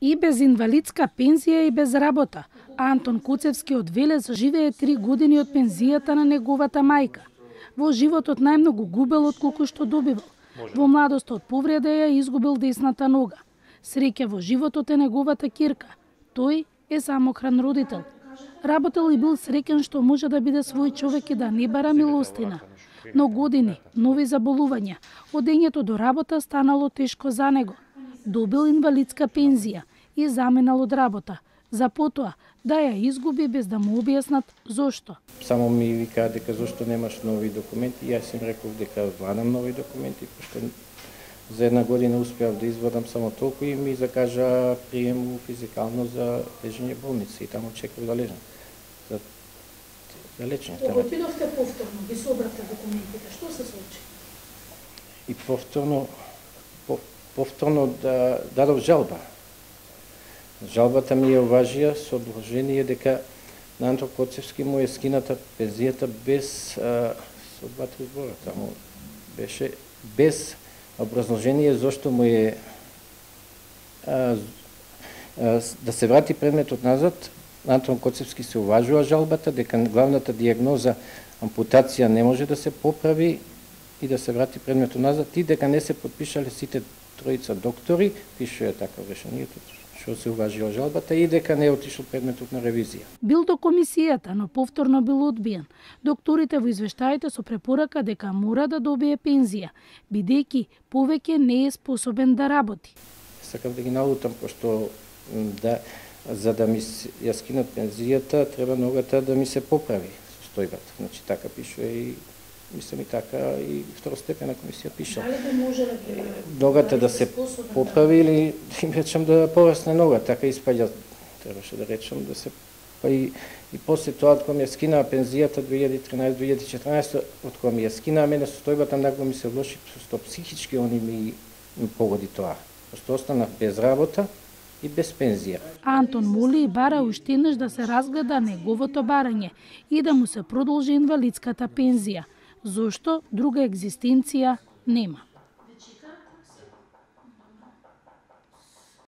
И без инвалидска пензија и без работа. Антон Куцевски од Велес живее 3 години од пензијата на неговата мајка. Во животот најмногу губел отколку што добивал. Во младоста од повреда ја изгубил десната нога. Среќа во животот е неговата ќерка. Тој е самохран родител. Работел и бил среќен што може да биде свој човек и да не бара милостина. Но години, нови заболувања, одењето до работа станало тешко за него. Добил инвалидска пензија и заменал од работа, за потоа да ја изгуби без да му објаснат зошто. Само ми викаа дека зошто немаш нови документи, јас им реков дека вадам нови документи, пошто за 1 година успеав да извадам само толку и ми закажа прием физикално за лежење болници и таму чекав да лежам. За лечење. Кога отидовте повторно, ги собрате документите, што се случи? И повторно дадов жалба. Жалбата ми ја уважија со обложение дека на Антон Коцевски му е скината пензијата без со 2-3 збора. Таму беше без образложение зошто му е да се врати предметот назад. Антон Коцевски се уважува жалбата дека главната дијагноза ампутација не може да се поправи и да се врати предметот назад и дека не се подпишале сите тројца доктори, пишува така решението, што се уважила жалбата и дека не е отишол предметот на ревизија. Бил до комисијата, но повторно бил одбиен. Докторите во извештаите со препорака дека мора да добие пензија, бидејќи повеќе не е способен да работи. Сакам да ги налутам, пошто за да ми ја скинат пензијата, треба ногата да ми се поправи состојбата. Значи така пишува и мислам и така и второстепена комисија пиша. Дали да може да ги ногата да се поправи или им речам да порасне нога, така испаѓа. Требаше да речам да се па и после тоа кога ми ја скинаа пензијата 2013-2014, од кога ми ја скинаа мене состојбата нагло ми се влоши, што психички они ми погоди тоа. Што останав без работа и без пензија. Антон моли и бара уште еднаш да се разгледа неговото барање и да му се продолжи инвалидската пензија, зошто друга екзистенција нема.